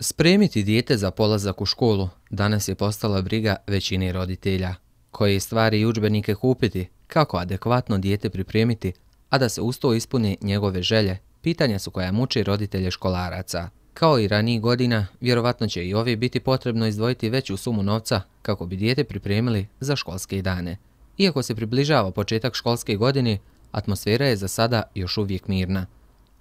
Spremiti dijete za polazak u školu danas je postala briga većine roditelja. Koje stvari i udžbenike kupiti, kako adekvatno dijete pripremiti, a da se uz to ispune njegove želje, pitanja su koja muče roditelje školaraca. Kao i ranijih godina, vjerovatno će i ove biti potrebno izdvojiti veću sumu novca kako bi dijete pripremili za školske dane. Iako se približava početak školske godine, atmosfera je za sada još uvijek mirna.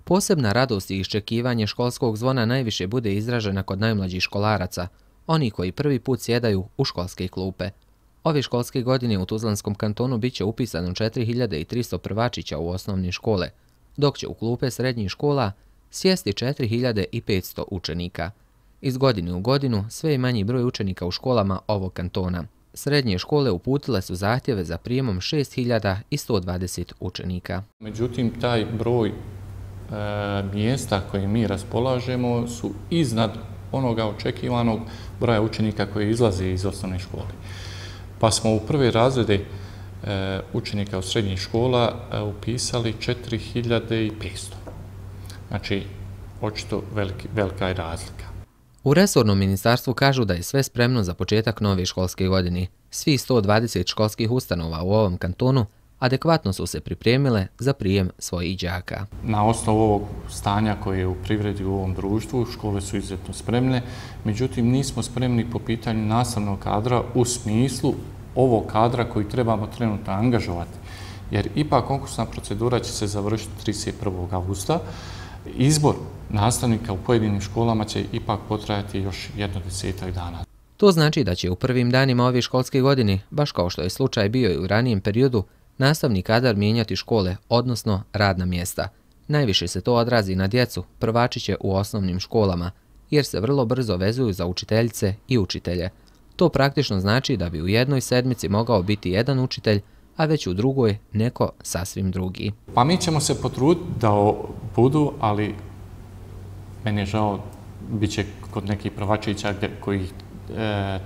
Posebna radost i iščekivanje školskog zvona najviše bude izražena kod najmlađih školaraca, oni koji prvi put sjedaju u školske klupe. Ove školske godine u Tuzlanskom kantonu bit će upisano 4300 prvačića u osnovne škole, dok će u klupe srednjih škola sjesti 4500 učenika. Iz godine u godinu sve je manji broj učenika u školama ovog kantona. Srednje škole uputile su zahtjeve za prijemom 6120 učenika. Međutim, taj broj mjesta koje mi raspolažemo su iznad onoga očekivanog broja učenika koji izlaze iz osnovne škole. Pa smo u prve razrede učenika u srednjih škola upisali 4500. Znači, očito velika je razlika. U resornom ministarstvu kažu da je sve spremno za početak nove školske godine. Svi 120 školskih ustanova u ovom kantonu adekvatno su se pripremile za prijem svojih đaka. Na osnovu ovog stanja koje je u privredi u ovom društvu, škole su izuzetno spremne, međutim nismo spremni po pitanju nastavnog kadra u smislu ovog kadra koji trebamo trenutno angažovati. Jer ipak konkursna procedura će se završiti 31. augusta. Izbor nastavnika u pojedinim školama će ipak potrajati još 10 dana. To znači da će u prvim danima ove školske godine, baš kao što je slučaj bio i u ranijem periodu, nastavni kadar mijenjati škole, odnosno radna mjesta. Najviše se to odrazi na djecu, prvačiće u osnovnim školama, jer se vrlo brzo vezuju za učiteljice i učitelje. To praktično znači da bi u jednoj sedmici mogao biti jedan učitelj, a već u drugoj neko sasvim drugi. Pa mi ćemo se potruditi da budu, ali meni je žao, bit će kod nekih prvačića koji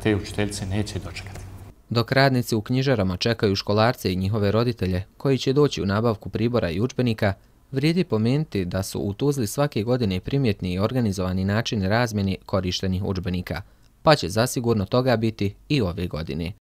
te učiteljice neće dočekati. Dok radnici u knjižarama čekaju školarce i njihove roditelje koji će doći u nabavku pribora i udžbenika, vrijedi pomenuti da su u Tuzli svake godine primjetni i organizovani načini razmjene korištenih udžbenika, pa će zasigurno toga biti i ove godine.